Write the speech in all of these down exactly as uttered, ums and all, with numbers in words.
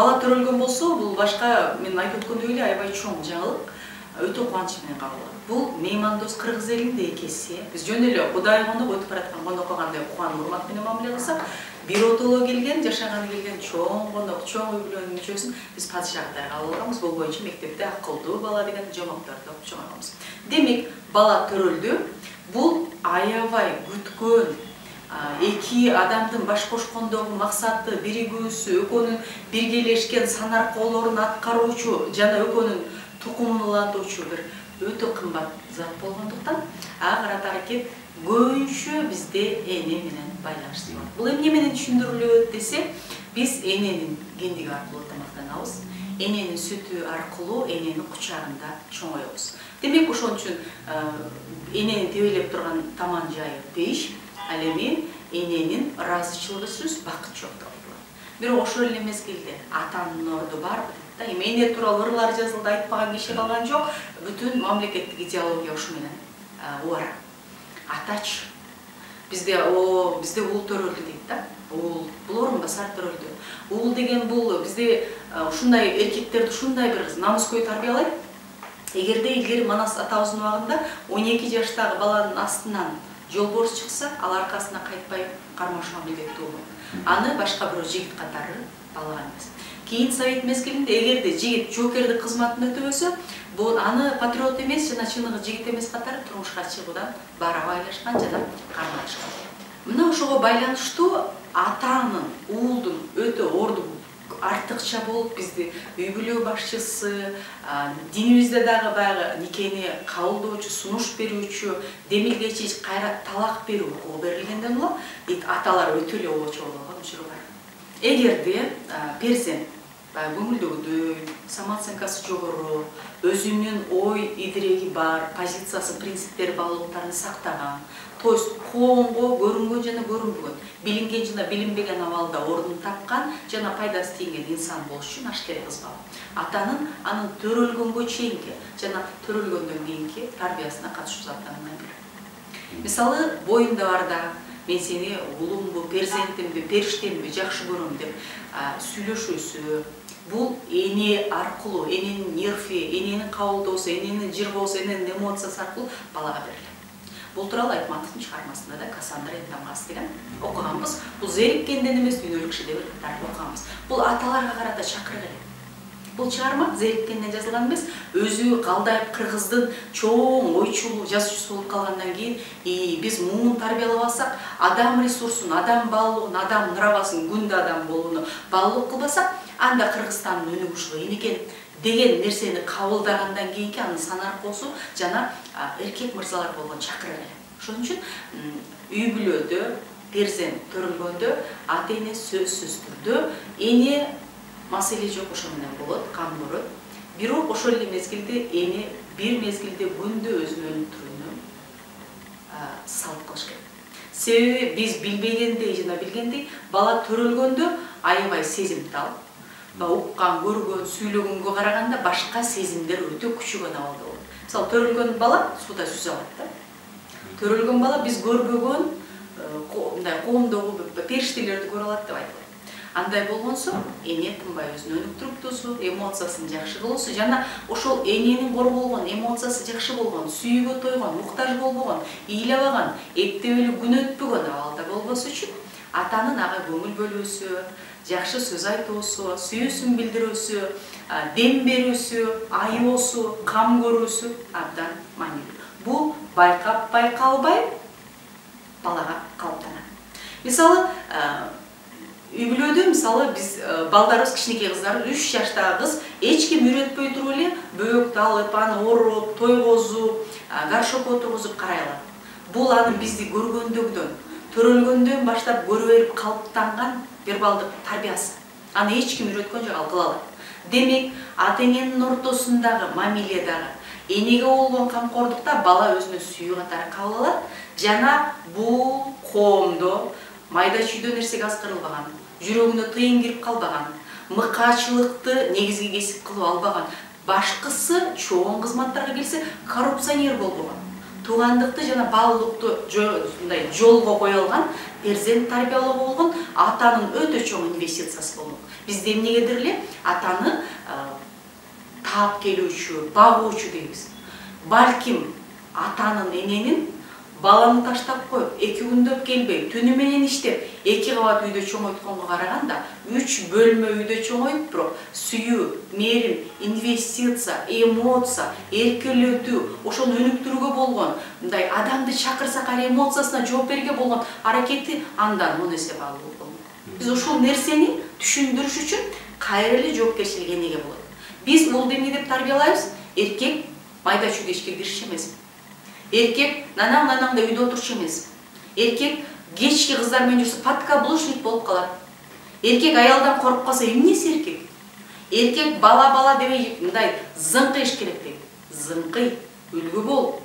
бала төрөлгөн болсо, бул башка мен айтып өткөндөй эле аябай чоң жаңылык, өтө кубаныч менен кабыл алат. Бул меймандос кыргыз элинде экеси. Биз жөн эле Кудай коноп өтүп бараткан конокко кандай кубан урмат менен мамиле кылсак, бир отоло келген, жашаганы келген чоң конок, чоң үй бүлөнүн мүчөсүн биз падышагыдай кабыл алганбыз. Бул боюнча мектепте акылдуу бала деген жомокторду окуп чыгарганбыз. Демек, бала төрөлдү. Бул аябай күткөн эки адамдын баш кошкондогу максаты, биригүүсү, экөөнүн биргелешкен санаркоолорун аткаруучу жана экөөнүн тукумун улантуучу бир өтө кымбат зат болгондуктан ага карата аракет көбүнчө бизде эне менен байланыштуу болот. Бул эмне менен түшүндүрүлөт десек, биз эненин гендиги аркылуу тамактанабыз. Эненин сүтү аркылуу эненин кучагында чоңоебуз. Демек, ошон үчүн энени тебелеп турган таман жайы пеш, ал эми эненин ыраазычылыгысыз бакыт жок деп айтылат. Бирок ошол эле мезгилде атанын орду барбы дейт да. Эми эне тууралуу ырлар жазылды, айтпаган киши калган жок. Бүтүн мамлекеттик идеология ушу менен убара. Атачы. Бизде о бизде уул төрөлдү дейт да. Уул, бул орун басар төрөлдү. Уул деген бул бизде ушундай эркектерди ушундай бир намыскөй тарбиялайт. Эгерде илгери Манас атабыздын убагында он эки жаштагы баланын астынан жолборс чыкса, ал аркасына кайтпай кармашууга милдеттүү болот. Аны башка бирөө жигит катары балаган эмес. Кийин Совет мезгилинде эгерде жигит жоокердик кызматын өтөбөсө, бул аны патриот эмес жана чыныгы жигит эмес катары турмушка чыгуудан баары байлашкан жана карманышкан. Мына ошого байланыштуу атанын, уулдун өтө орду артыкча болуп, бизди үй бүлө башчысы, динибизде дагы баягы никени кабылдоочу, сунуш берүүчү, демилгечи кайра талак берүү укугу берилгенден улам, аталар өтө эле обочо болгон учуру бар. Эгерде перзент көңүлдөгүдөй, самооценкасы жогору, өзүнүн ой идиреги бар, позициясы, принциптери, баалуулуктарын сактаган, то есть коомго көрүнгөн жана көрүнбөгөн, билинген жана билинбеген абалда ордун тапкан жана пайдасы тийген инсан болуш үчүн аш керек кызбал. Атанын анын төрөлгөнгө чейинки жана төрөлгөндөн кийинки тарбиясына катышуу заттарынан бири. Мисалы, боюнда барда мен сени уулумбу, перзентимби, периштемби жакшы көрөм деп сүйлөшүүсү, бул эне аркылуу, эненин нерви, эненин кабылдоосу, эненин жыргоосу, эненин эмоциясы аркылуу балага берилет. Бул тууралуу Айтматовдун чыгармасында да Кассандра Энтамгасы деген окуганбыз. Бул зериккенден эмес, дүйнөлүк киши деп окуганбыз. Бул аталарга карата чакырык эле. Бул чыгарма зериккенден жазылган эмес, өзү Калдаев кыргыздын чоң ойчулуу жазуучусу болуп калгандан кийин, и биз муун тарбиялабасак, адам ресурсун, адам баалуулугун, адам нравасын, күндө адам болууну баалуу кылбасак, анда Кыргызстандын өнүгүү ушул экен деген нерсени кабылдагандан кийинки анын санаркоосу жана эркек мырзалар болгон чакырык эле. Ошон үчүн үй бүлөдө перзент төрөлгөндө ата эне сөзсүз түрдө эне маселе жок ошо менен болот, кам көрөт. Бирок ошол эле мезгилде эне бир мезгилде күндө өзүн өлүп турууну салт кылыш керек. Себеби биз билбегендей жана билгендей бала төрөлгөндө аябай сезимтал, уккан, көргөн, сүйлөгөнгө караганда башка сезимдер өтө күчөгөн абалда болот. Мисалы, төрөлгөн бала сууда сүзө алат да. Төрөлгөн бала биз көрбөгөн мындай коомдогу периштелерди көрө алат деп айтылат. Андай болгонсо, эне тынбай өзүн өнүктүрүптүсү, эмоциясын жакшы кылуусу жана ошол эненин корголгон, эмоциясы жакшы болгон, сүйүүгө тойгон, муктаж болбогон, ыйлабаган, эптебелүү күн өтпөгөн абалда болбосу үчүн атанын ага көңүл бөлүүсү, жакшы сөз айтуусу, сүйүүсүн билдирүүсү, дем берүүсү, айоосу, кам көрүүсү абдан маанилүү. Бул байкап байкалбай балага калыптанат. Мисалы, үй бүлөдө мисалы биз балдарыбыз, кичинекей кыздар, үч жаштагы кыз эч ким үйрөтпөй туруп эле бөөктү алып, аны ороп, тойгозуп, горшокко отургузуп карай алат. Бул аны бизди көргөндөгүдөн, төрөлгөндөн баштап көрө берип калыптанган вербалдык тарбиясы. Аны эч ким үйрөткөн жок, ал кыла алат. Демек, ата эненин ортосундагы мамиледагы энеге болгон камкордукта бала өзүнө сүйүү катары кабыл алат жана бул коомдо майда чүйдө нерсеге аскарылбаган, жүрөгүнө тыйын кирип калбаган, мыкаачылыкты негизги кесип кылып албаган, башкысы чоң кызматтарга келсе коррупционер болбогон, туугандыкты жана баалуулукту мындай жолго кое алган, перзент тарбиялоого болгон атанын өтө чоң инвестициясы болмок. Бизде эмнегедир эле атаны таап келүүчү, багуучу дейбиз. Балким атанын, эненин баланы таштап коюп, эки күндөп келбей, түнү менен иштеп, эки кабат үйдө чоңойтконго караганда, үч бөлмө үйдө чоңоюп, бирок сүйүү, мээрим, инвестиция, эмоция, эркелетүү, ошону өнүктүрүүгө болгон, мындай адамды чакырсак ар эмоциясына жооп берүүгө болгон аракети андан он эсе баалуу болмок. Биз ушул нерсени түшүндүрүш үчүн кайра эле жоопкерчилик энеге болот. Биз улду эмне деп тарбиялайбыз? Эркек майда чүйдө ишке киришчү эмес. Эркек нанаң-нанаңда үйдө отурчу эмес. Эркек кечки кыздар менен жүрсө подкаблучник болуп калат. Эркек аялдан коруп калса эмнеси эркек? Эркек бала-бала дебей мындай зыңкыйыш керек дейт. Зыңкый, үлгү бол.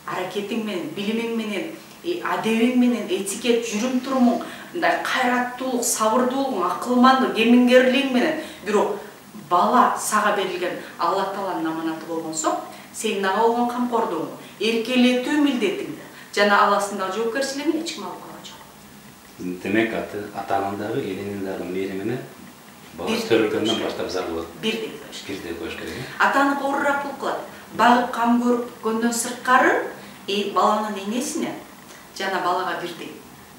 Аракетиң менен, билимиң менен, адебиң менен, этикет, жүрүм-турумуң, мындай кайраттуулук, сабырдуулугуң, акылмандык, кемингерлигиң менен, бирок бала сага берилген Алла Тааланын аманаты болгонсо, сенин ага болгон камкордугуң, эркелетүү милдетиңди жана аласындагы жоопкерчилигин эч ким алып калган жок. Демек атанын дагы, эненин дагы мээримине бала төрөлгөндөн баштап зар болот. Бирдей коюш керек. Бирдей коюш керек. Атаны оорураак болуп калат. Багып кам көргөндөн сырткары баланын энесине жана балага бирдей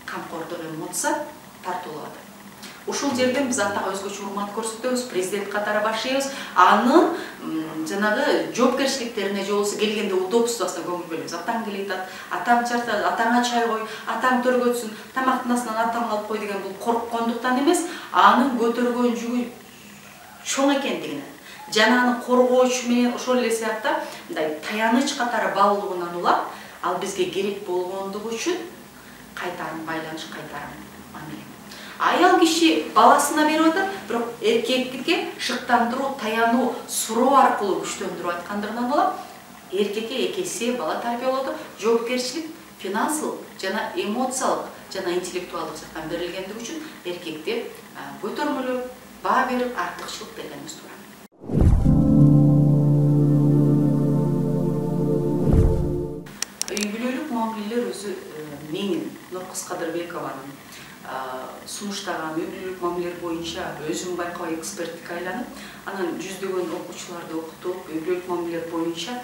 камкордук, эмоция тартуулап. Ушул жерден биз атага өзгөчө урмат көрсөтөбүз, президент катары баштайбыз. Анын жанагы жоопкерчиликтерине же болбосо келгенде удобствосуна көңүл бөлөбүз. Атаң келет, атаң чартат, атаңа чай кой, атаң төргөтсүн, тамактын астынан атаң алып кой деген бул корккондуктан эмес, анын көтөргөн жүгү чоң экендигинен жана аны коргоочу менен ошол эле сыяктуу мындай таяныч катары баалуулугунан улап, ал бизге керек болгондугу үчүн кайтарым байланыш, кайтарым мамиле. Аял киши баласына берип атат, бирок эркекке шыктандыруу, таянуу, суроо аркылуу күчтөндүрүп аткандыгынан улам, эркекке эки эсе бала тарбиялоодо жоопкерчилик финансылык жана эмоциялык жана интеллектуалдык жактан берилгендиги үчүн эркекти көтөрмөлөп, баа берип, артыкчылык бергенибиз туура. Үй бүлөлүк мамилелер өзү менин, Нуркыз Кадырбекованын сунуштаган үй бүлөлүк мамилелер боюнча өзүм байкабай эксперттикке айланып, анан жүздөгөн окуучуларды окутуп, үй бүлөлүк мамилелер боюнча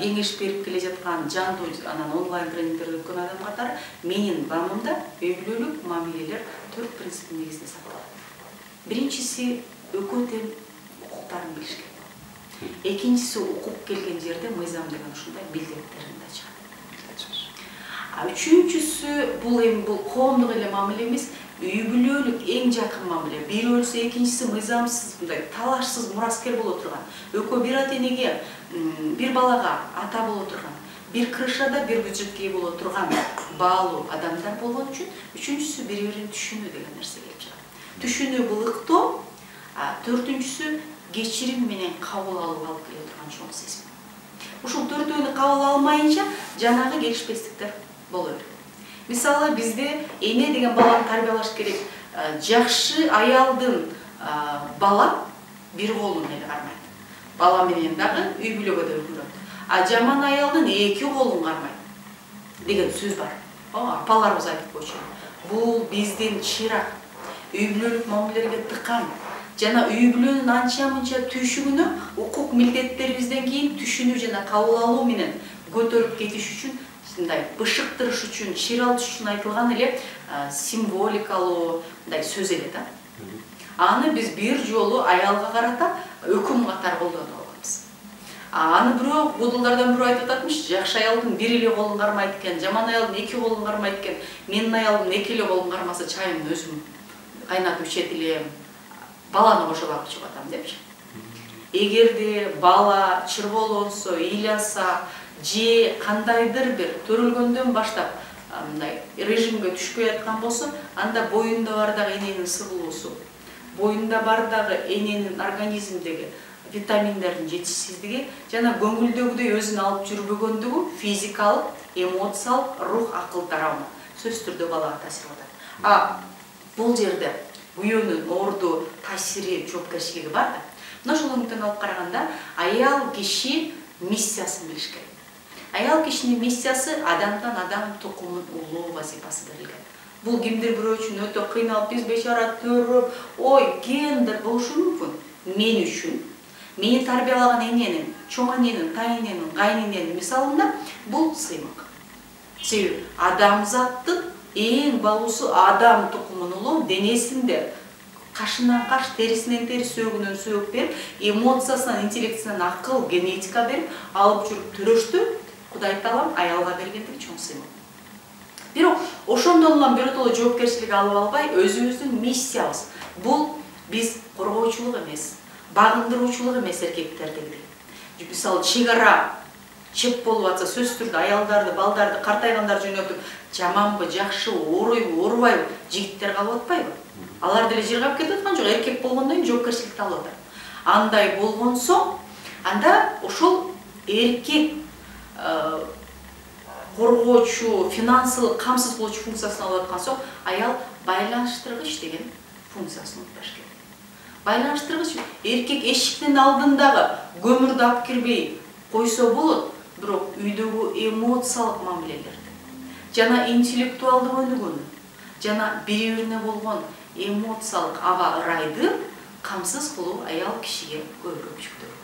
кеңеш берип келе жаткан жандуу анан онлайн тренингдерди өткөн адам катары менин баамымда үй бүлөлүк мамилелер төрт принциптин негизинде сакталат. Биринчиси экөө тең укуктарын билиш керек. Экинчиси укук келген жерде мыйзам деген ушундай билдеттерин да чыгат. Үчүнчүсү бул эми бул коомдук эле мамиле эмес, үй бүлөлүк эң жакын мамиле. Бири өлсө экинчиси мыйзамсыз, мындай талашсыз мураскер боло турган. Экөө бир ата-энеге, бир балага ата боло турган, бир крышада бир бюджетке боло турган баалуу адамдар болгон үчүн үчүнчүсү бири-бирин түшүнүү деген нерсе келип чыгат. Түшүнүү былыктоо, төртүнчүсү кечирим менен кабыл алуу алып келе турган чоң сезим. Ушул төртөөнү кабыл алмайынча жанагы келишпестиктер боло берет. Мисалы бизде эне деген баланы тарбиялаш керек. Жакшы аялдын бала бир колун эле кармайт. Бала менен дагы үй бүлөгө да үлгүрөт. А жаман аялдын эки колун кармайт деген сөз бар. Апаларыбыз айтып койчу. Бул биздин чырак үй бүлөлүк мамилелерге тыкан жана үй бүлөнүн анча-мынча түйшүгүнө укук милдеттерибизден кийин түшүнүү жана кабыл алуу менен көтөрүп кетиш үчүн, мындай бышыктырыш үчүн, чыйралтыш үчүн айтылган эле символикалуу мындай сөз эле да. Аны биз бир жолу аялга карата өкүм катары колдонуп алганбыз. Аны бирөө будулдардан бирөө айтып ататмыш, жакшы аялдын бир эле колун кармайт экен, жаман аялдын эки колун кармайт экен. Менин аялым эки эле колун кармаса чайымды өзүм кайнатып ичет элем, баланы кошо багып чыгып атам депчи. Эгерде бала чырголонсо, ыйласа, же кандайдыр бир төрөлгөндөн баштап мындай режимге түшпөй аткан болсо, анда боюнда бар дагы эненин сыгылуусу, боюнда бар дагы эненин организмдеги витаминдердин жетишсиздиги жана көңүлдөгүдөй өзүн алып жүрбөгөндүгү физикалык, эмоциялык, рух, акыл тарабынан сөзсүз түрдө балага таасир кылат. А бул жерде күйөөнүн орду, таасири, жоопкерчилиги бар да. Мына ошол үмүттөн алып караганда аял киши миссиясын билиш керек. аял кишинин миссиясы адамдан адам тукумун улуу вазифасы берилген. Бул кимдир бирөө үчүн өтө кыйналып, биз бечара төрөп, ой, гендер болушу мүмкүн. Мен үчүн, мени тарбиялаган эненин, чоң эненин, тайненин, кайнененин мисалында бул сыймык. Себеби адамзаттын эң баалуусу адам тукумун улуу денесинде кашынан каш, терисинен терис, сөөгүнөн сөөгү берип, эмоциясынан, интеллектинен акыл, генетика берип, алып жүрүп төрөштү Кудай Таалам аялга бергендиги чоң сыймык. Бирок ошондон улам биротоло жоопкерчилик алып албай, өзүбүздүн миссиябыз. Бул биз коргоочулук эмес, багындыруучулук эмес эркектердеги. Мисалы, чек ара чеп болуп атса, сөзсүз түрдө аялдарды, балдарды, картайгандарды жөнөтүп, жаманбы, жакшыбы, ооруйбу, оорубайбы, жигиттер калып атпайбы? Алар деле жыргап кетип аткан жок, эркек болгондон кийин жоопкерчиликти алып атат. Андай болгон соң, анда ошол эркек коргоочу, финансылык камсыз кылуучу функциясын алып аткан соң, аял байланыштыргыч деген функциясын унутпаш керек. Байланыштыргыч эркек эшиктин алдындагы көмүрдү алып кирбей койсо болот, бирок үйдөгү эмоциялык мамилелерди жана интеллектуалдык өнүгүүнү жана бири-бирине болгон эмоциялык аба ырайды камсыз кылуу аял кишиге көбүрөөк жүктөлгөн.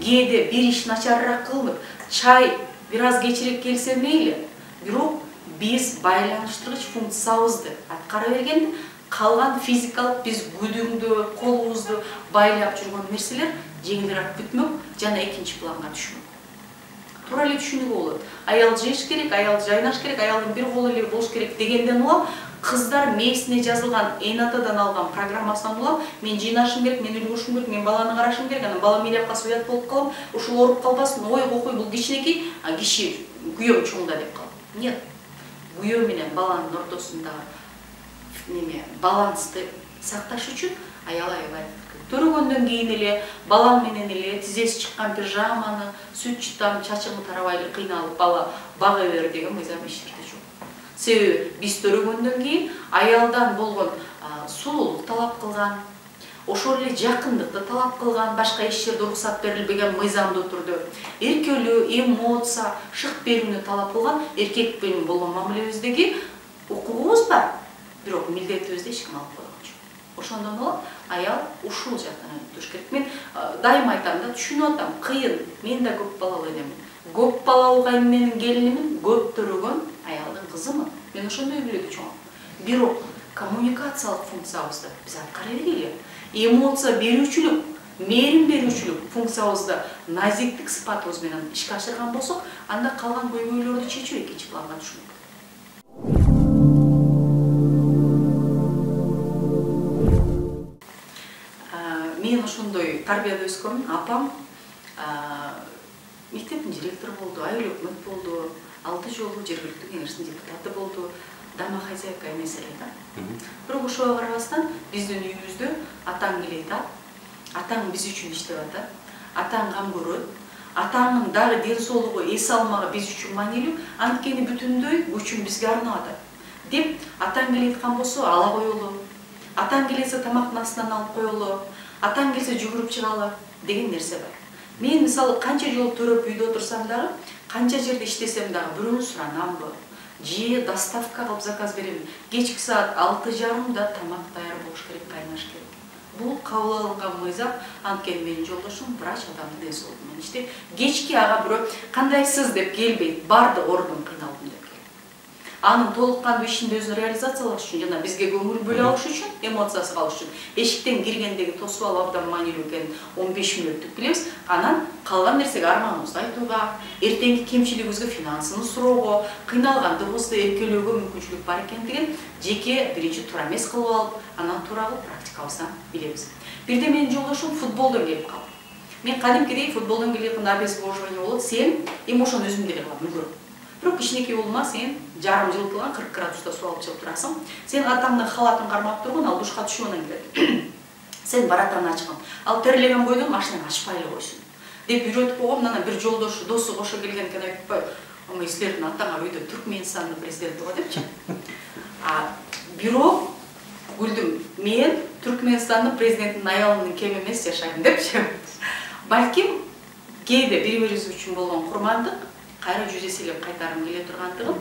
Кээде бир иш начарыраак кылынып, чай бир аз кечирээк келсе мейли, бирок биз байланыштыргыч функциябызды аткара бергенде, калган физикалык биз күдүңдү, колубузду байлап жүргөн нерселер жеңилирээк бүтмөк жана экинчи планга түшмөк. Туура эле түшүнүгү болот. Аял жеш керек, аял жайнаш керек, аялдын бир колу эле болуш керек дегенден улам, кыздар мээсине жазылган эн атадан алган программасынан улам, мен жыйнашым керек, мен үлгүрүшүм керек, мен баланы карашым керек, анан балам эле калса уят болуп калам, ушул ооруп калбасын, ой кокуй бул кичинекей, а киши күйөөм чоңда деп калат. Нет. Күйөө менен баланын ортосундагы неме балансты сакташ үчүн аял аябай төрөгөндөн кийин эле балам менен эле тизеси чыккан пижаманы, сүт чытам, чачыңы тарабай эле кыйналып бала бага бер деген мыйзам эч жерде жок. Себеби биз төрөгөндөн кийин аялдан болгон сулуулук талап кылган, ошол эле жакындыкты талап кылган, башка эч жерде уруксат берилбеген мыйзамдуу түрдө эркелөө, эмоция, шык берүүнү талап кылган эркек менен болгон мамилебиздеги укугубуз бар, бирок милдетибизди эч ким алып койгон жок. Ошондон улам аял ушул жактан өтүш керек. Мен дайыма айтам да, түшүнүп атам, кыйын. Мен да көп балалуу энемин. Көп балалуу кайнененин келинимин, көп төрөгөн аялдын кызымын. Мен ошондой үйлөдү чоңом. Бирок коммуникациялык функциябызды биз аткара берели. Эмоция берүүчүлүк, мээрим берүүчүлүк функциябызды назиктик сыпатыбыз менен ишке ашырган болсок, анда калган көйгөйлөрдү чечүү экинчи планга түшмөк. Мен ошондой тарбияда өскөмүн. Апам мектептин директору болду, айыл өкмөт болду, алты жолу жергиликтүү кеңештин депутаты болду, домохозяйка эмес эле да. Бирок ошого карабастан биздин үйүбүздө атаң келет, атаң биз үчүн иштеп атат, атаң кам көрөт, атаңдын дагы ден соолугу, эс алмагы биз үчүн маанилүү, анткени бүтүндөй күчүн бизге арнап атат деп атаң келе аткан болсо ала коелу, атаң келсе тамактын астынан алып коелу, атаң келсе жүгүрүп чыгалы деген нерсе бар. Мен мисалы канча жол төрөп үйдө отурсам дагы, канча жерде иштесем дагы бирөөнү суранамбы, же доставка кылып заказ берем. Кечки саат алты жарымда тамак даяр болуш керек, кайнаш керек. Бул кабыл алынган мыйзам, анткени менин жолдошум врач, адамдын ден соолугу менен иштейт. Кечки ага бирөө кандайсыз деп келбейт, барды ордун кыйналдым деп. Анын толук кандуу ишинде өзүн реализациялаш үчүн жана бизге көңүл бөлө алыш үчүн, эмоциясы калыш үчүн эшиктен киргендеги тосуп алып абдан маанилүү экенин он беш мүнөттүк билебиз. Анан калган нерсеге арманыбызды айтууга, эртеңки кемчилигибизге финансыны суроого, кыйналгандыгыбызды эркелөөгө мүмкүнчүлүк бар экендигин жеке биринчи туура эмес кылып алып, анан туура кылып практикабыздан билебиз. Бирде менин жолдошум футболдон келип калды. Мен кадимкидей футболдон келип обезвоживание болот, сен эми ошону өзүм деле кылам, үлгүрөм. Бирок кичинекей болма, сен жарым жылытылган кырк градуста суу алып чыгып турасың. Сен атаңдын халатын кармап тургун, ал душка түшүп анан келет. Сен баратан ачкын. Ал терилеген бойдон машинаны ачпай эле койсун деп үйрөтүп койгом. Анан бир жолдошу, досу кошо келген экен, айтып коюп, "Омой, силердин атаңар үйдө Түркмөнстандын президенти го" депчи. А бирок күлдүм. Мен Түркмөнстандын президентинин аялынын кем эмес жашайм депчи. Балким кээде бири бирибиз үчүн болгон курмандык кайра жүз эселеп кайтарым келе тургандыгын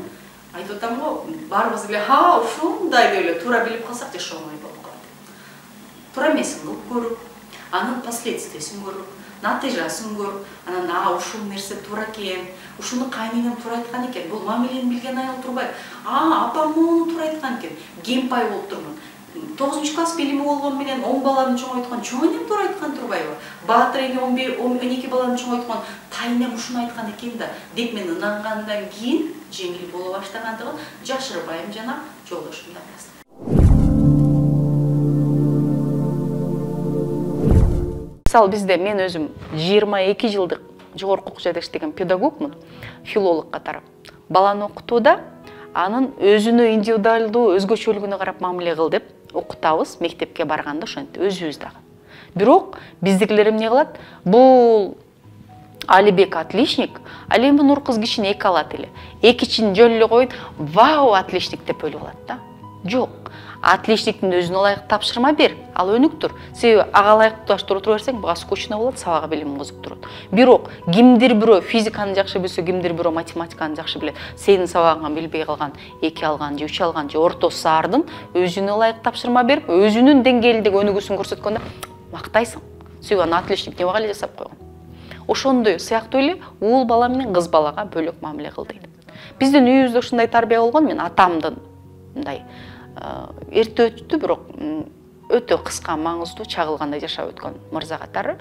айтып атам го. Баарыбыз эле ха ушундай деп эле туура билип калсак жашоо оңой болуп калат. Туура эмесин кылып көрүп, анын последствиясын көрүп, натыйжасын көрүп, анан а ушул нерсе туура экен, ушуну кайненем туура айткан экен, бул мамилени билген аял турбайбы? А апам муну туура айткан экен, гемпай болуп турмун. тогузунчу класс билими болгон менен он баланы чоңойткон чоңенем туура айткан турбайбы? Баатыр эне он бир он эки баланы чоңойткон тайнем ушуну айткан экен да деп мен ынангандан кийин жеңил боло баштагандыгын жашырбайм жана жолдошумду айтасың. Мисалы бизде мен өзүм жыйырма эки жылдык жогорку окуу жайда иштеген педагогмун, филолог катары. Баланы окутууда анын өзүнө индивидуалдуу өзгөчөлүгүнө карап мамиле кыл деп окутабыз, мектепке барганда ошентип өзүбүз дагы. Бирок биздикилер эмне кылат? Бул Алибек отличник, ал эми Нур кыз кишини эки алат эле. Экичин жөн эле коюп, вау, отличник деп ойлоп алат да. Жок. Отличниктин өзүнө ылайык тапшырма бер, ал өнүктүр. Себеби ага ылайык тураштырып отура берсең, буга скучно болот, сабагы билим кызыктырат. Бирок кимдир бирөө физиканы жакшы билсе, кимдир бирөө математиканы жакшы билет. Сенин сабагыңа билбей калган, эки алган же үч алган же ортосу саардын өзүнө ылайык тапшырма берип, өзүнүн деңгээлиндеги өнүгүүсүн көрсөткөндө мактайсың. Себеби аны отличник деп эле жасап койгон. Ошондой сыяктуу эле уул бала менен кыз балага бөлөк мамиле кыл дейт. Биздин үйүбүздө ушундай тарбия болгон, мен атамдын мындай эрте өттү, бирок өтө кыска маңыздуу чагылгандай жашап өткөн мырза катары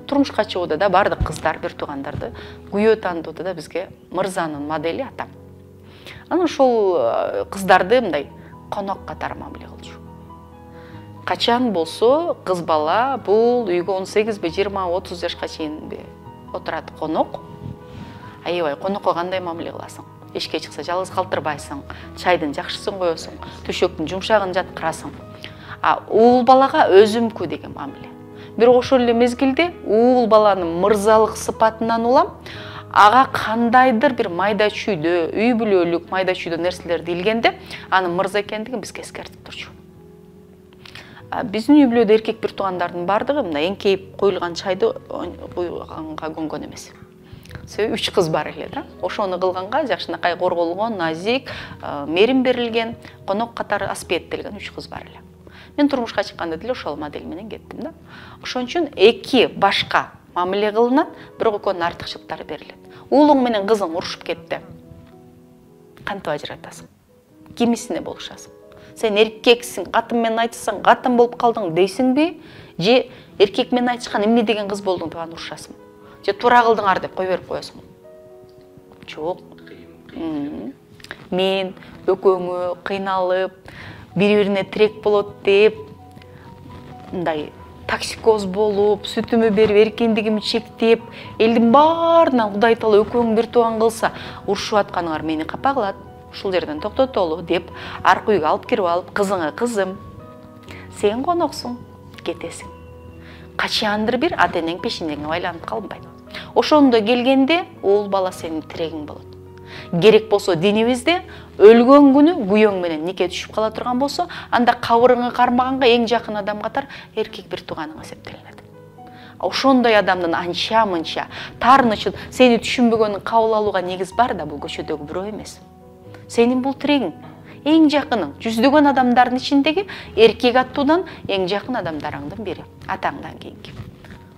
турмушка чыгууда да бардык кыздар бир туугандарды күйөө тандоодо да бизге мырзанын модели атам. Анан ошол кыздарды мындай конок катары мамиле кылчу. Качан болсо кыз бала бул үйгө он сегизби, жыйырма, отуз жашка чейинби отурат конок. Аябай конокко кандай мамиле кыласың? Эшикке чыкса жалгыз калтырбайсың, чайдын жакшысын коесуң, төшөктүн жумшагын жаткырасың. А уул балага өзүмкү деген мамиле. Бирок ошол эле мезгилде уул баланын мырзалык сыпатынан улам ага кандайдыр бир майда чүйдө, үй бүлөлүк майда чүйдө нерселерди илгенде анын мырза экендигин бизге эскертип турчу. Биздин үй бүлөдө эркек бир туугандардын бардыгы мына эңкейип коюлган чайды куйганга көнгөн эмес. Себеби үч кыз бар эле да. Ошону кылганга жакшынакай корголгон, назик, мерим берилген, конок катары аспиеттелген үч кыз бар эле. Мен турмушка чыкканда деле ошол модель менен кеттим да. Ошон үчүн эки башка мамиле кылынат, бирок экөөнүн артыкчылыктары берилет. Уулуң менен кызың урушуп кетти. Кантип ажыратасың? Кимисине болушасың? Сен эркексиң, катын менен айтсаң, катын болуп калдың дейсиңби? Же эркек менен айтышкан эмне деген кыз болдуң деп аны урушасың? Же туура кылдыңар деп кой берип коесуң? Жок. Мен экөөңө кыйналып, бири-бирине тирек болот деп, мындай токсикоз болуп, сүтүмү берип, эркиндигимди чектеп, элдин баарынан Кудай таала экөөң бир тууган кылса, урушуп атканыңар мени капа кылат. Ушул жерден токтотолу деп, аркы үйгө алып кирип алып, кызыңа кызым, сен коноксуң, кетесиң. Качандыр бир ата-энең пешенеңе байланып калбайт. Ошондо келгенде уул бала сенин тирегиң болот. Керек болсо динибизде өлгөн күнү күйөөң менен нике түшүп кала турган болсо, анда кабырыңы кармаганга эң жакын адам катар эркек бир тууганың эсептелинет. Ошондой адамдын анча-мынча таарынычын сени түшүнбөгөнүн кабыл алууга негиз бар да, бул көчөдөгү бирөө эмес. Сенин бул тирегиң, эң жакының, жүздөгөн адамдардын ичиндеги эркек аттуудан эң жакын адамдарыңдын бири, атаңдан кийинки.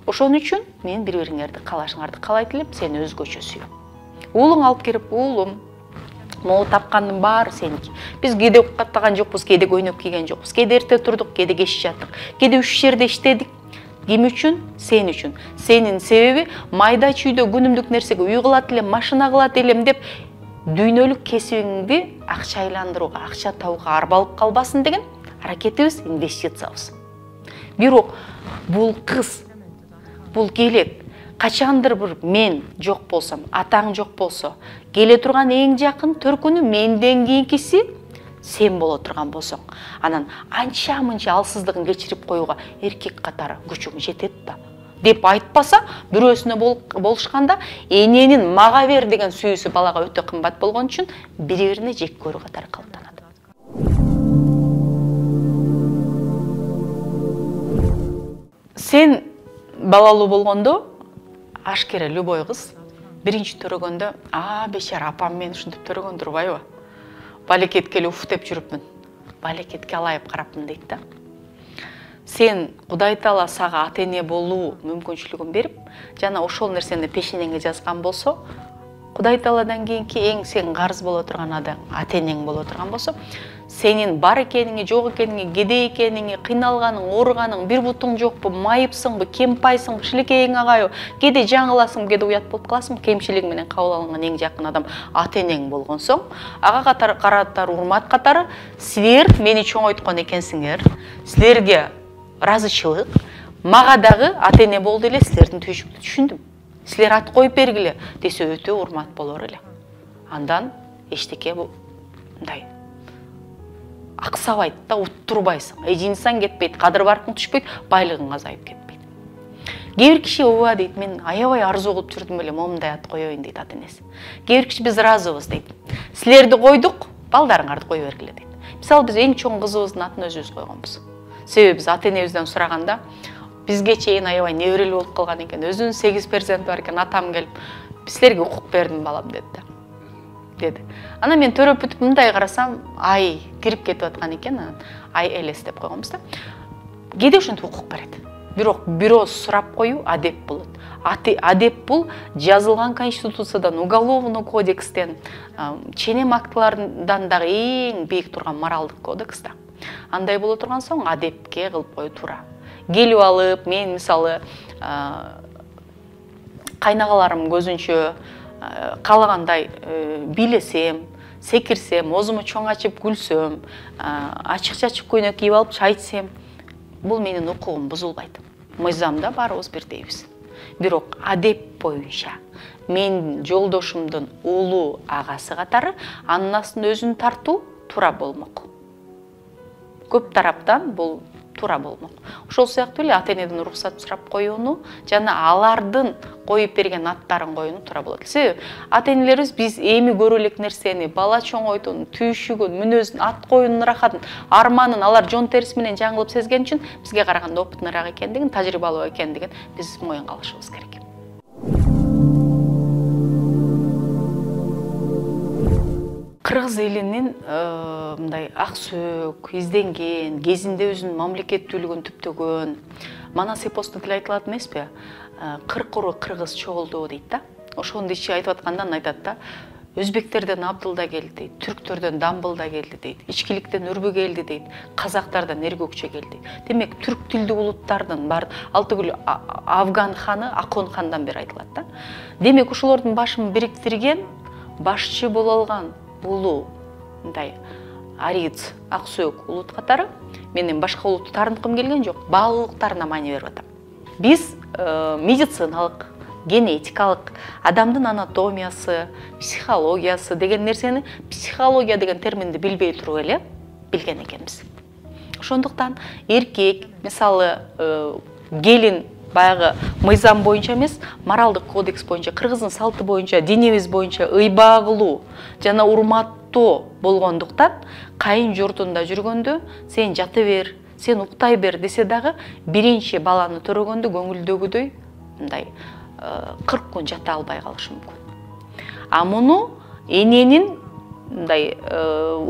Ошон үчүн мен бири-бириңерди каалашыңарды каалайт элем, сени өзгөчө сүйөм. Уулуң алып келип, уулум, могу тапкандын баары сеники. Биз кээде каттаган жокпуз, кээде көйнөк кийген жокпуз, кээде эрте турдук, кээде кеч жаттык, кээде үч жерде иштедик. Ким үчүн? Сен үчүн. Сенин себеби майда чүйдө күнүмдүк нерсеге үй кылат элем, машина кылат элем деп дүйнөлүк кесибиңди акча айландырууга, акча табууга арбалып калбасын деген аракетибиз, инвестициябыз. Бирок бул кыз, бул келет, качандыр бир мен жок болсом, атаң жок болсо, келе турган эң жакын төркүнү менден кийинкиси сен боло турган болсоң, анан анча-мынча алсыздыгын кечирип коюуга эркек катары күчүң жетет да деп айтпаса, бирөөсүнө болушканда эненин мага бер деген сүйүүсү балага өтө кымбат болгон үчүн бири-бирине жек көрүү катары калыптанат. Сен балалуу болгондо ашкере любой кыз биринчи төрөгөндө а бечара апам мен ушинтип төрөгөн турбайбы? Балекетке эле уф деп жүрүпмүн. Балекетке алайып карапмын дейт да. Сен Кудай Таала сага ата-эне болуу мүмкүнчүлүгүн берип, жана ошол нерсени пешенеңе жазган болсо, Кудай Тааладан кийинки эң сен карыз боло турган адам ата-энең боло турган болсо, сенин бар экениңи, жок экениңи, кедей экениңи, кыйналганың, ооруганың, бир бутуң жокпу, майыпсыңбы, кемпайсыңбы, шилекейиң агайбы, кээде жаңыласың, кээде уят болуп каласың, кемчилиги менен кабыл алынган эң жакын адам ата-энең болгон соң, ага катары каратар урмат катары силер мени чоңойткон экенсиңер, силерге ыраазычылык, мага дагы ата-эне болду эле силердин түйшүктү түшүндүм. Силер ат коюп бергиле десе өтө урмат болор эле. Андан эчтеке бу мындай аксабайт да, уттурбайсың. Эжинсаң кетпейт, кадыр баркың түшпөйт, байлыгың азайып кетпейт. Кээ бир киши ооба дейт, мен аябай арзу кылып жүрдүм эле, момундай ат коёюн дейт ата-энеси. Кээ бир киши биз ыраазыбыз дейт. Силерди койдук, балдарыңарды кое бергиле дейт. Мисалы биз эң чоң кызыбыздын атын өзүбүз койгонбуз. Себеби биз ата-энебизден сураганда бизге чейин аябай неберелүү болуп калган экен. Өзүнүн сегиз перзенти бар экен, атам келип, силерге укук бердим балам деди да. Деди. Ана мен төрөп бүтүп мындай карасам, ай кирип кетип аткан экен, ай элес деп койгонбуз да. Кээде ошентип укук берет. Бирок бирөөз сурап коюу адеп болот. Адеп бул жазылган конституциядан, уголовный кодекстен, ченем актыларынан дагы эң бийик турган моралдык кодекс да. Андай боло турган соң адепке кылып коюу туура. Келип алып, мен мисалы кайнагаларым көзүнчө каалагандай бийлесем, секирсем, оозуму чоң ачып күлсөм, ачык-чачык көйнөк кийип алып чай ичсем, бул менин укугум бузулбайт. Мыйзамда баарыбыз бирдейбиз. Бирок адеп боюнча мен жолдошумдун уулу агасы катары анын астында өзүн тартуу туура болмок. Көп тараптан бул туура болмок. Ошол сыяктуу эле ата-энеден уруксат сурап коюуну жана алардын коюп берген аттарын коюуну туура болот. Себеби ата-энелерибиз биз эми көрө элек нерсени, бала чоңойтуун, түйшүгүн, мүнөзүн, ат коюунун рахатын, арманын алар жон териси менен жаңылып сезген үчүн бизге караганда опытныраак экендигин, тажрыйбалуу экендигин биз моюнга алышыбыз керек. Кыргыз элинин мындай ак сөөк, изденген, кезинде өзүнүн мамлекеттүүлүгүн түптөгөн, манас эпосунда деле айтылат эмеспи? Кырк уру кыргыз чогулду дейт да. Ошону ичи айтып аткандан айтат да. Өзбектерден Абдылда келди, түрктөрдөн Дамбылда келди дейт, ичкиликтен Үрбү келди дейт, казактардан Эргөкчө келди. Демек түрк тилдүү улуттардын бар Алтыгүл Афган ханы Акон хандан бери айтылат да. Демек ошолордун башын бириктирген, башчы боло алган улуу мындай ариц, ак сөөк улут катары менин башка улутты таарынткым келген жок, баалуулуктарына маани берип атам. Биз медициналык, генетикалык, адамдын анатомиясы, психологиясы деген нерсени, психология деген терминди билбей туруп эле билген экенбиз. Ошондуктан эркек, мисалы, келин баягы мыйзам боюнча эмес, моралдык кодекс боюнча, кыргыздын салты боюнча, динибиз боюнча ыйбагылуу жана урматтоо болгондуктан кайын журтунда жүргөндө сен жата бер, сен уктай бер десе дагы биринчи баланы төрөгөндө көңүлдөгүдөй мындай кырк күн жата албай калышы мүмкүн. А муну эненин мындай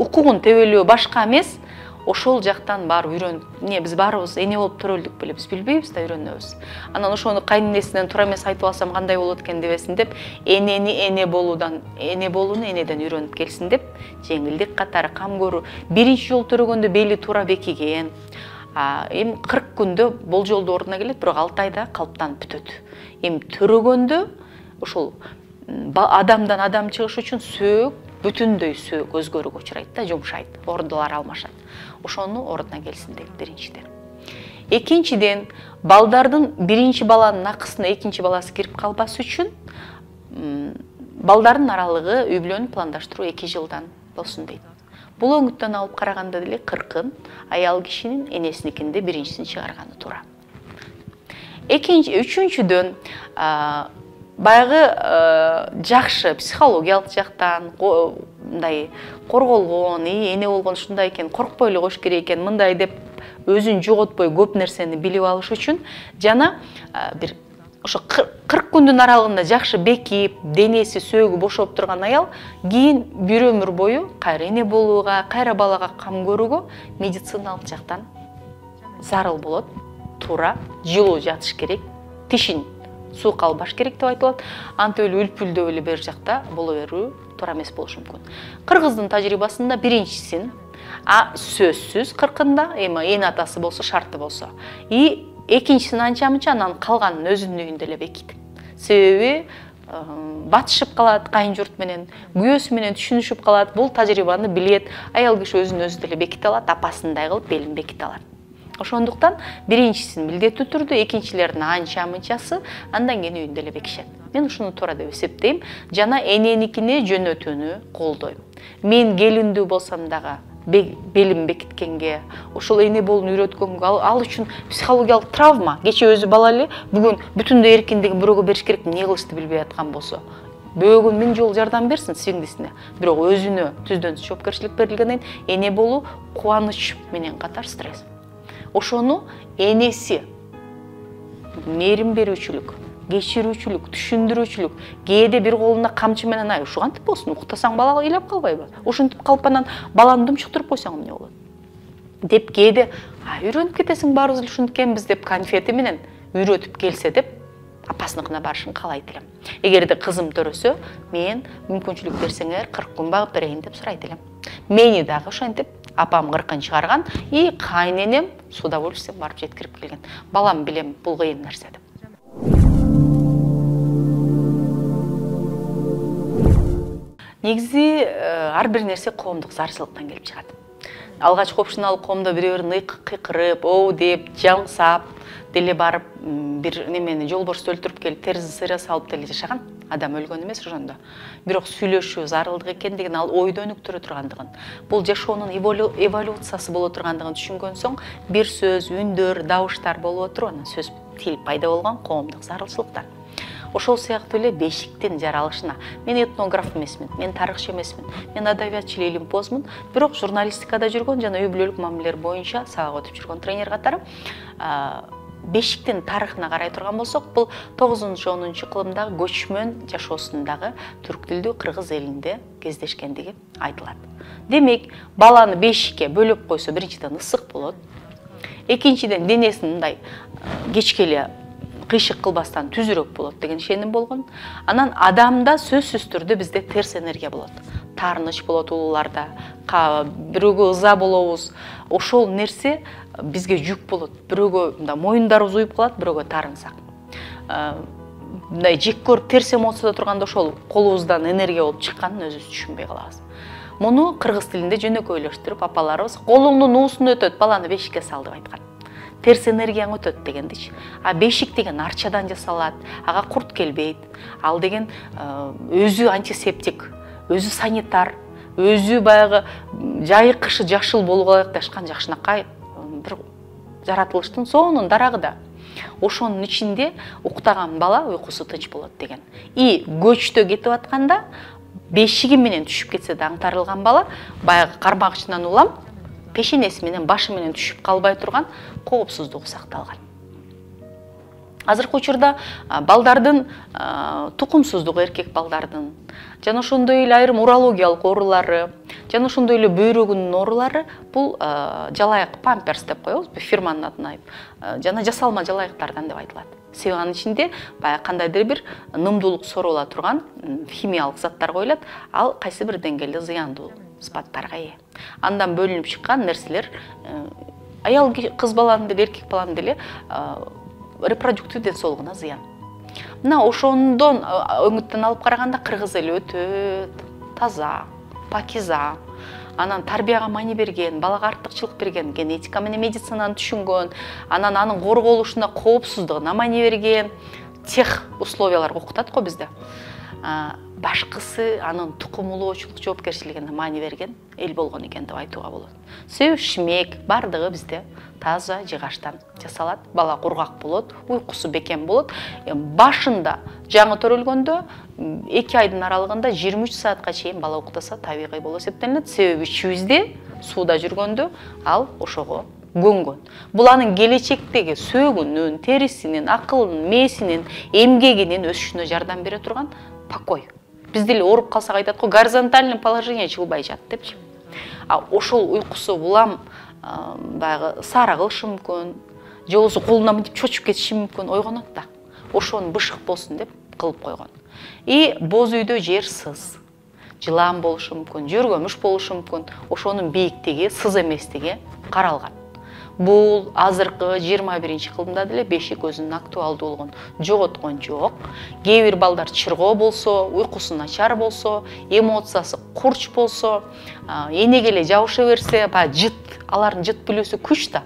укугун тебелөө башка эмес, ошол жактан барып үйрөнүп, эмне биз баарыбыз эне болуп төрөлдүк беле, биз билбейбиз да, үйрөнөбүз. Анан ошону кайненесинен туура эмес айтып алсам кандай болот экен дебесин деп, энени эне болуудан, эне болууну энеден үйрөнүп келсин деп, жеңилдик катары кам көрүү, биринчи жолу төрөгөндө бели туура бекиген. Эми кырк күндө болжолдуу ордуна келет, бирок алты айда калыптанып бүтөт. Эми төрөгөндө ошол адамдан адам чыгыш үчүн сөөк, бүтүндөй сөөк өзгөрүүгө учурайт да, жумшайт, ордулар алмашат. Ошону ордуна келсин дейт биринчиден. Экинчиден, балдардын биринчи баланын акысына экинчи баласы кирип калбас үчүн балдардын аралыгы үй бүлөнү пландаштыруу эки жылдан болсун дейт. Бул өңүттөн алып караганда деле кыркын аял кишинин энесиникинде биринчисин чыгарганы туура. Экинчи, үчүнчүдөн баягы жакшы психологиялык жактан мындай корголгон, эне болгон ушундай экен, коркпой эле коюш керек экен, мындай деп өзүн жоготпой көп нерсени билип алыш үчүн жана бир ошо кырк күндүн аралыгында жакшы бекип, денеси, сөөгү бошоп турган аял кийин бир өмүр бою кайра эне болууга, кайра балага кам көрүүгө медициналык жактан зарыл болот. Туура жылуу жатыш керек, тишин суук албаш керек деп айтылат. Антип эле үлпүлдөп эле бер жакта боло берүү туура эмес болушу мүмкүн. Кыргыздын тажрыйбасында биринчисин, а сөзсүз кыркында, эми эне атасы болсо, шарты болсо, и экинчисин анча-мынча, анан калганын өзүнүн үйүндө эле бекит. Себеби батышып калат кайын журт менен, күйөөсү менен түшүнүшүп калат. Бул тажрыйбаны билет. Аял киши өзүн өзү деле беките алат, апасындай кылып белин беките алат. Ошондуктан биринчисин милдеттүү түрдө, экинчилердин анча-мынчасы андан кийин үйүндө эле бекишет. Мен ушуну туура деп эсептейм жана эненикине жөнөтүүнү колдойм. Мен келиндүү болсам дагы белим бекиткенге, ошол эне болууну үйрөткөнгө, ал үчүн психологиялык травма. Кече өзү бала эле, бүгүн бүтүндөй эркиндигин бирөөгө бериш керек, эмне кылышты билбей аткан болсо, бөөгөн миң жолу жардам берсин сиңдисине. Бирок өзүнө түздөн түз жоопкерчилик берилгенден кийин эне болуу кубаныч менен катар стресс. Ошону энеси мээрим берүүчүлүк, кечирүүчүлүк, түшүндүрүүчүлүк, кээде бир колуна камчы менен ай, ушу кантип болсун, уктасаң бала ыйлап калбайбы? Ушинтип калып анан баланы думчуктуруп койсоң эмне болот? Деп кээде, а үйрөнүп кетесиң, баарыбыз эле ушинткенбиз деп конфети менен үйрөтүп келсе деп апасыныкына барышын каалайт элем. Эгерде кызым төрөсө, мен мүмкүнчүлүк берсеңер кырк күн багып берейин деп сурайт элем. Мени дагы ошентип апам кыркын чыгарган, и кайненем с удовольствием барып жеткирип келген. Балам билем, бул кыйын нерсе деп. Негизи ар бир нерсе коомдук зарчылыктан келип чыгат. Алгач общиналык коомдо бирөө-бирин кыйкырып, оу деп, жаңсап деле барып бир немени жолборсту өлтүрүп келип терisi сыйра салып деле жашаган. Адам өлгөн эмес ошондо. Бирок сүйлөшүү зарылдык экендигин, ал ойдо өнүктүрө тургандыгын, бул жашоонун эволюциясы боло тургандыгын түшүнгөн соң, бир сөз, үндөр, дабыштар болуп отуруп, анан сөз тил пайда болгон коомдук зарылчылыктар. Ошол сыяктуу эле бешиктин жаралышына. Мен этнограф эмесмин, мен тарыхчы эмесмин, мен адабиятчы илимпозмун, бирок журналистикада жүргөн жана үй бүлөлүк мамилелер боюнча сабак өтүп жүргөн тренер катары бешиктин тарыхына карай турган болсок, бул тогузунчу онунчу кылымдагы көчмөн жашоосундагы түрк тилдүү кыргыз элинде кездешкендиги айтылат. Демек, баланы бешикке бөлөп койсо, биринчиден ысык болот. Экинчиден денесин мындай кечке эле кыйшык кылбастан түзүрөөк болот деген ишеним болгон. Анан адамда сөзсүз түрдө бизде терс энергия болот. Таарыныч болот улууларда, бирөөгө ыза болобуз. Ошол нерсе бизге жүк болот. Бирөөгө мындай моюндарыбыз уюп калат, бирөөгө таарынсак. Мындай жек көрүп терс эмоцияда турганда ошол колубуздан энергия болуп чыкканын өзүбүз түшүнбөй калабыз. Муну кыргыз тилинде жөнөкөйлөштүрүп апаларыбыз колуңдун уусун өтөт, баланы бешикке сал деп айткан. Терс энергияң өтөт дегендичи. А бешик деген арчадан жасалат, ага курт келбейт. Ал деген өзү антисептик, өзү санитар, өзү баягы жайкышы жашыл болууга ылайыкташкан жакшынакай бир жаратылыштын сонун дарагы да. Ошонун ичинде уктаган бала уйкусу тынч болот деген. И көчтө кетип атканда бешиги менен түшүп кетсе да аңтарылган бала баягы кармагычынан улам пешенеси менен башы менен түшүп калбай турган коопсуздугу сакталган. Азыркы учурда балдардын тукумсуздугу, эркек балдардын жана ошондой эле айрым урологиялык оорулары, жана ошондой эле бөйрөгүнүн оорулары бул жалайык памперс деп коебуз, фирманын атын айтып, жана жасалма жалайыктардан деп айтылат. Себеби анын ичинде баягы кандайдыр бир нымдуулук соруула турган химиялык заттар коюлат, ал кайсы бир деңгээлде зыяндуу сыпаттарга ээ. Андан бөлүнүп чыккан нерселер аял кыз баланын деле, эркек баланын деле репродуктив ден соолугуна зыян. Мына ошондон өңүттөн алып караганда кыргыз эли өтө таза, пакиза, анан тарбияга маани берген, балага артыкчылык берген, генетика менен медицинаны түшүнгөн, анан анын корголушуна, коопсуздугуна маани берген, тех условияларга окутат го бизде. Башкысы анын тукумулоочулук жоопкерчилигине маани берген эл болгон экен деп айтууга болот. Себеби шмек бардыгы бизде таза жыгачтан жасалат, бала кургак болот, уйкусу бекем болот. Башында жаңы төрөлгөндө эки айдын аралыгында жыйырма үч саатка чейин бала уктаса табигый болуп эсептелинет. Себеби ичибизде сууда жүргөндө ал ошого көнгөн. Бул анын келечектеги сөөгүнүн, терисинин, акылынын, мээсинин, эмгегинин өсүшүнө жардам бере турган покой. Биз деле ооруп калсак айтат го, горизонтальный положение жылбай жат депчи. А ошол уйкусу улам баягы саара кылышы мүмкүн, же болбосо колуна мынтип чочуп кетиши мүмкүн, ойгонот да. Ошону бышык болсун деп кылып койгон. И боз үйдө жер сыз. Жылаан болушу мүмкүн, жөргөмүш болушу мүмкүн. Ошонун бийиктиги, сыз эместиги каралган. Бул азыркы жыйырма биринчи кылымда деле бешик өзүнүн актуалдуулугун жоготкон жок. Кээ бир балдар чыргоо болсо, уйкусу начар болсо, эмоциясы курч болсо, энеге эле жабыша берсе, баягы жыт, алардын жыт билүүсү күч да.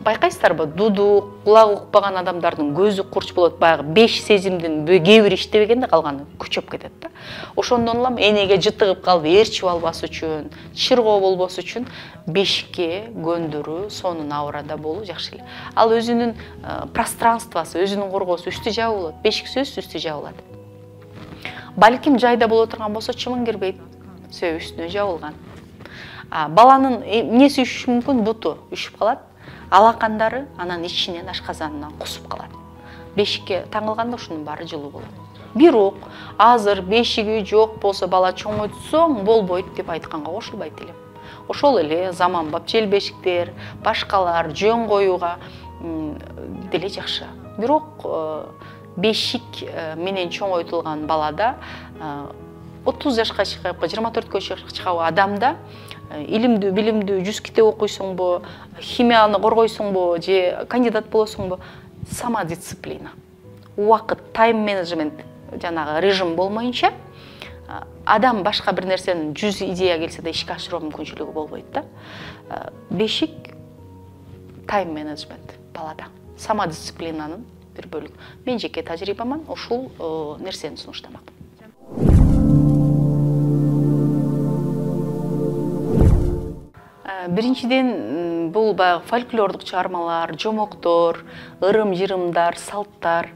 Байкайсыздарбы, дудук, кулагы укпаган адамдардын көзү курч болот, баягы беш сезимдин кээ бири иштебегенде калганы күчөп кетет да. Ошондон улам энеге жытыгып калып ээрчип албас үчүн, чыргоо болбос үчүн бешикке көндүрүү, сонун аурада болуу жакшы эле. Ал өзүнүн пространствосы, өзүнүн коргоосу үстү жабылат, бешик сөзсүз үстү жабылат. Балким жайда боло турган болсо чымын кирбейт, себеби үстүнө жабылган. Баланын эмнеси үшүшү мүмкүн, буту үшүп калат. Алакандары анан ичинен ашказанынан кусуп калат. Бешикке таңылганда ушунун баары жылуу болот. Бирок азыр бешиги жок болсо бала чоңойтсоң болбойт деп айтканга кошулбайт элем. Ошол эле заманбап жел бешиктер, башкалар жөн коюуга деле жакшы. Бирок бешик менен чоңойтулган балада отуз жашка чыккан, жыйырма төрткө чыккан адамда илимдүү, билимдүү жүз китеп окуйсуңбу, химияны коргойсуңбу, же кандидат болосуңбу, самодисциплина, убакыт, тайм менеджмент, жанагы режим болмоюнча, адам башка бир нерсенин жүз идея келсе да ишке ашыруу мүмкүнчүлүгү болбойт да. Бешик тайм менеджмент балада, самодисциплинанын бир бөлүгү. Мен жеке тажрыйбаман ушул нерсени сунуштамакмын. Биринчиден, бул баягы фольклордук чыгармалар, жомоктор, ырым-жырымдар, салттар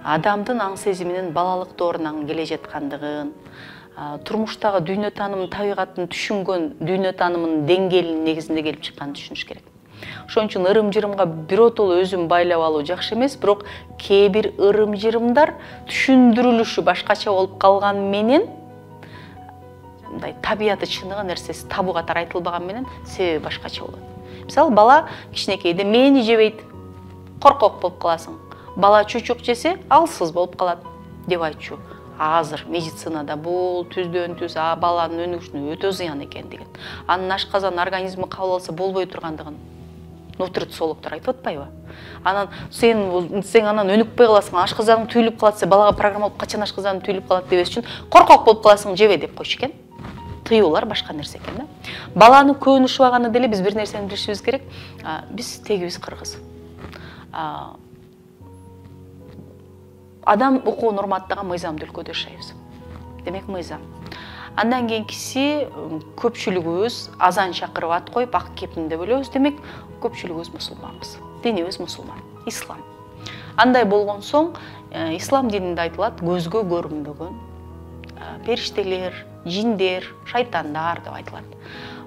адамдын аң сезиминин балалык доорунан келе жаткандыгын, турмуштагы дүйнө таанымын, табигаттын түшүнгөн дүйнө таанымынын деңгээлинин негизинде келип чыкканын түшүнүш керек. Ошон үчүн ырым-жырымга биротоло өзүн байлап алуу жакшы эмес, бирок кээ бир ырым-жырымдар түшүндүрүлүшү башкача болуп калган менен, мындай табияты чыныгы нерсеси табу катары айтылбаган менен себеби башкача болот. Мисалы, бала кичинекейде мени жебейт, коркок болуп каласың. Бала чучук жесе, алсыз болуп калат деп айтчу. Азыр медицинада бул түздөн түз баланын өнүгүшүнө өтө зыян экендигин, анын ашказан организми кабыл алса болбой тургандыгын нутрициологдор айтып атпайбы? Анан сен сен анан өнүкпөй каласың, ашказаның түйүлүп калат, сен балага программа болуп качан ашказаның түйүлүп калат дебес үчүн коркок болуп каласың, жебе деп койчу экен. Тыюулар башка нерсе экен да. Баланы көөнү ушубаганы деле биз бир нерсени билишибиз керек. Биз тегибиз кыргыз. Адам укуун урматтаган мыйзамдуу өлкөдө жашайбыз. Демек мыйзам. Андан кийинкиси көпчүлүгүбүз азан чакырып ат коюп ак кепинде бөлөбүз. Демек көпчүлүгүбүз мусулманбыз. Динибиз мусулман, ислам. Андай болгон соң ислам дининде айтылат көзгө көрүнбөгөн периштелер, жиндер, шайтандар деп айтылат.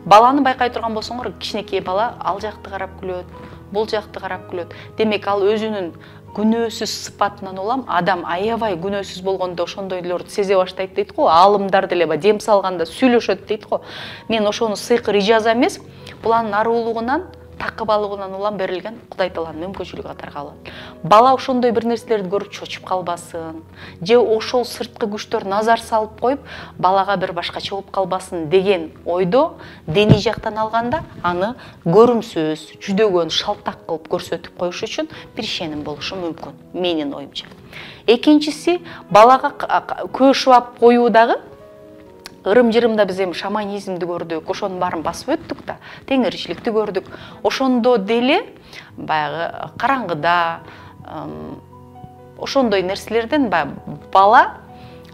Баланы байкай турган болсоңор, кичинекей бала ал жакты карап күлөт, бул жакты карап күлөт. Демек ал өзүнүн күнөөсүз сыпатынан улам адам аябай күнөөсүз болгондо ошондойлорду сезе баштайт дейт го. Аалымдар деле дем салганда сүйлөшөт дейт го. Мен ошону сыйкыр ижаза эмес, бул анын аруулугунан, такыбалыгынан улам берилген Кудай Тааланын мүмкүнчүлүгү катары кабыл алат. Бала ошондой бир нерселерди көрүп чочуп калбасын, же ошол сырткы күчтөр назар салып коюп, балага бир башкача болуп калбасын деген ойдо диний жактан алганда аны көрүмсүз, жүдөгөн, шалтак кылып көрсөтүп коюш үчүн бир ишеним болушу мүмкүн, менин оюмча. Экинчиси, балага көз шыбап коюудагы ырым-жырымда биз эми шаманизмди көрдүк, ошонун баарын басып өттүк да, теңирчиликти көрдүк. Ошондо деле баягы караңгыда ошондой нерселерден бала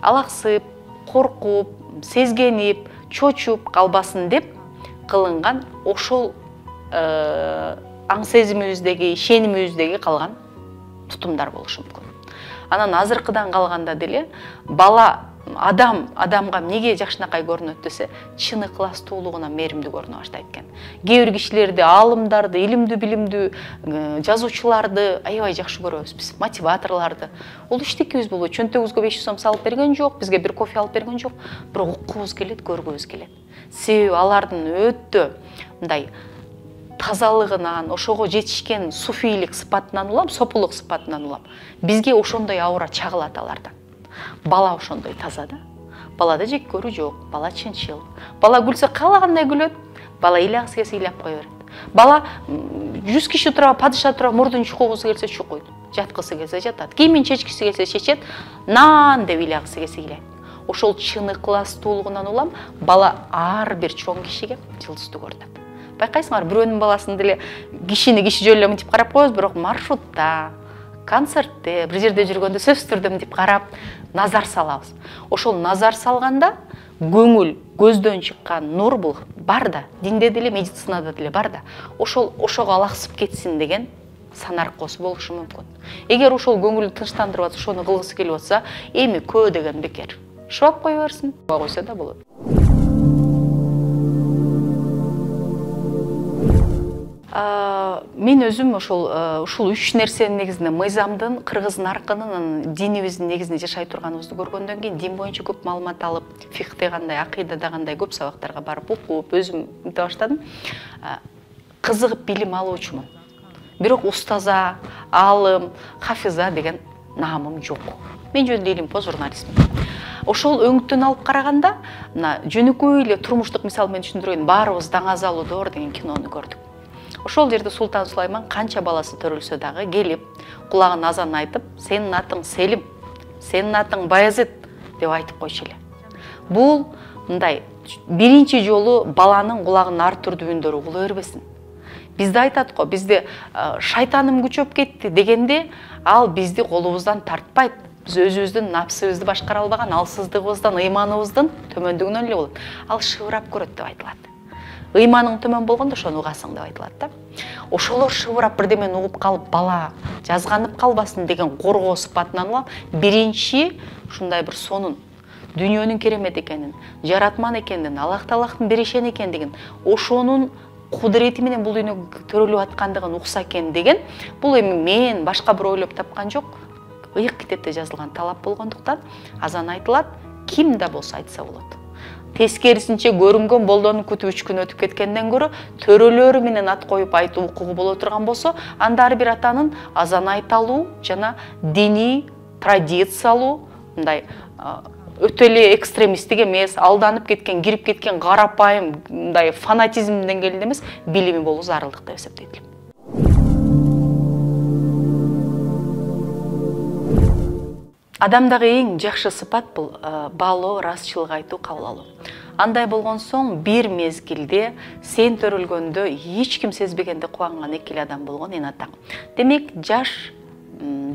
алаксып, коркуп, сезгенип, чочуп калбасын деп кылынган ошол аң сезимибиздеги, ишенимибиздеги калган тутумдар болушу мүмкүн. Анан азыркыдан калганда деле бала адам адамга эмнеге жакшынакай көрүнөт десе, чын ыкластуулугуна мээримдүү көрүнө баштайт экен. Кээ бир кишилерди, аалымдарды, илимдүү, билимдүү жазуучуларды аябай жакшы көрөбүз биз, мотиваторлорду. Ол иштикибиз болот. Чөнтөгүбүзгө беш жүз сом салып берген жок, бизге бир кофе алып берген жок, бирок уккубуз келет, көргүбүз келет. Себеби алардын өтө мындай тазалыгынан, ошого жетишкен суфийлик сыпатынан улам, сопулук сыпатынан улам. Бизге ошондой аура чагылат алардан. Бала ошондой таза да. Балада жек көрүү жок, бала чынчыл. Бала күлсө каалагандай күлөт, бала ыйлagысы келсе ыйлап кое берет. Бала жүз киши тура, падыша тура мурдун чукугусу келсе чукуйт, жаткысы келсе жатат, кийимин чечкиси келсе чечет, нан деп ыйлagысы келсе ыйлайт. Ошол чын ыкластуулугунан улам бала ар бир чоң кишиге жылдызды көрүнөт. Байкайсыңар, бирөөнүн баласын деле кишини киши жөн эле мынтип карап коебуз, бирок маршрутта, концертте, бир жерде жүргөндө сөзсүз түрдө мынтип карап, назар салабыз. Ошол назар салганда көңүл, көздөн чыккан нур бул бар да, динде деле, медицинада деле бар да. Ошол ошого алаксып кетсин деген санаркоосу болушу мүмкүн. Эгер ошол көңүлдү тынчтандырып атса, ошону кылгысы келип атса, эми көө деген бекер. Шуап кое берсин, койсо да болот. Мен өзүм ошол ушул үч нерсенин негизинде мыйзамдын, кыргыз наркынын, динибиздин негизинде жашай турганыбызды көргөндөн кийин дин боюнча көп маалымат алып, фикхте кандай, акыйдада кандай көп сабактарга барып окуп, өзүм мынте баштадым. Кызыгып билим алуучумун. Бирок устаза, аалым, хафиза деген наамым жок. Мен жөн эле по журналистмин. Ошол өңүттөн алып караганда, мына жөнөкөй эле турмуштук мисал менен түшүндүрөйүн, Баарыбыз Даңазалуудор деген кинону көрдүк. Ошол жерде Султан Сулайман канча баласы төрөлсө дагы келип, кулагына азан айтып, сенин атың Селим, сенин атың Баязит деп айтып койчу эле. Бул мындай биринчи жолу баланын кулагын ар түрдүү үндөрү угула бербесин. Бизде айтат го, бизде шайтаным күчөп кетти дегенде, ал бизди колубуздан тартпайт. Биз өзүбүздүн напсыбызды башкара албаган алсыздыгыбыздан, ыйманыбыздын төмөндүгүнөн эле болот. Ал шыбырап көрөт деп айтылат. Ыйманың төмөн болгондо ошону угасың деп айтылат да. Ошолор шыбырап бирдемени угуп калып, бала жазганып калбасын деген коргоо сыпатынан улам биринчи ушундай бир сонун дүйнөнүн керемет экенин, жаратман экенин, Аллах Таалахтын беришен экендигин, ошонун кудурети менен бул дүйнөгө төрөлүп аткандыгын укса экен деген, бул эми мен башка бир ойлоп тапкан жок, ыйык китепте жазылган талап болгондуктан азан айтылат, ким да болсо айтса болот. Тескерисинче көрүнгөн болдону күтүп үч күн өтүп кеткенден көрө төрөлөрү менен ат коюп айтуу укугу боло турган болсо, анда ар бир атанын азан айта алуу жана диний традициялуу мындай өтө эле экстремисттик эмес, алданып кеткен, кирип кеткен карапайым мындай фанатизм деңгээлинде эмес, билими болуу зарылдык деп эсептейт элем. Адамдагы эң жакшы сыпат бул баалоо, ырасчылык айтуу, кабыл алуу. Андай болгон соң бир мезгилде сен төрөлгөндө эч ким сезбегенде кубанган эки эле адам болгон эне атаң. Демек, жаш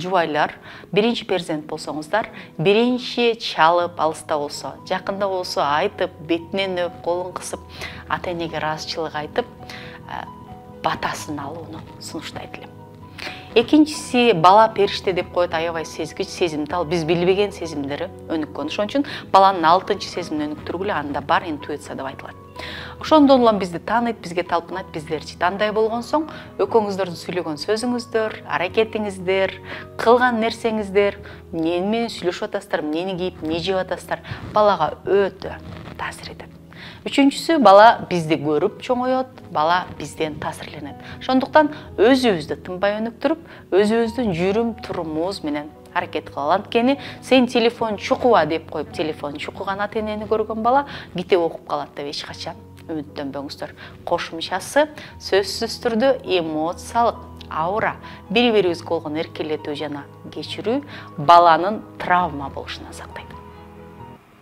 жубайлар, биринчи перзент болсоңуздар, биринчи чалып алыста болсо, жакында болсо айтып, бетинен өп, колун кысып, ата-энеге ыраазычылык айтып, батасын алууну сунуштайт элем. Экинчиси, бала периште деп коет, аябай сезгич, сезимтал, биз билбеген сезимдери өнүккөн. Ошон үчүн баланын алтынчы сезимин өнүктүргүлө анда бар интуиция деп айтылат. Ошондон улам бизди тааныйт, бизге талпынат, биздерчи. Андай болгон соң экөөңүздөрдүн сүйлөгөн сөзүңүздөр, аракетиңиздер, кылган нерсеңиздер, эмне менен сүйлөшүп атасыздар, эмнени кийип, эмне жеп атасыздар, балага өтө таасир этет. Үчүнчүсү, бала бизди көрүп чоңоет, бала бизден таасирленет. Ошондуктан өзүбүздү тынбай өнүктүрүп, өзүбүздүн жүрүм турумубуз менен аракет кылалы. Анткени сен телефон чукуба деп коюп, телефон чукуган ата-энени көргөн бала китеп окуп калат деп эч качан үмүттөнбөңүздөр. Кошумчасы сөзсүз түрдө эмоциялык аура, бири-бирибизге болгон эркелетүү жана кечирүү баланын травма болушунан сактайт.